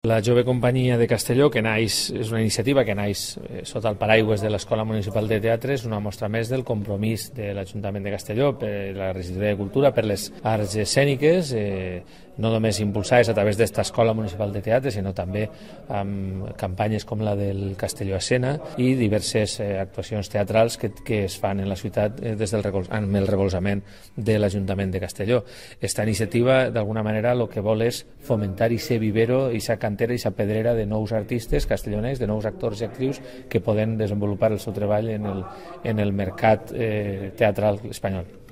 La Jove Companyia de Castelló, que és una iniciativa que naix sota el paraigües de l'Escola Municipal de Teatre, és una mostra més del compromís de l'Ajuntament de Castelló per la regidoria de Cultura, per les arts escèniques, no només impulsades a través d'esta Escola Municipal de Teatre, sinó també amb campanyes com la del Castelló Escena i diverses actuacions teatrals que es fan en la ciutat amb el recolzament de l'Ajuntament de Castelló. Esta iniciativa, d'alguna manera, el que vol és fomentar i ser vivero i ser cantera i ser pedrera de nous artistes castellonencs, de nous actors i actrius que poden desenvolupar el seu treball en el mercat teatral espanyol.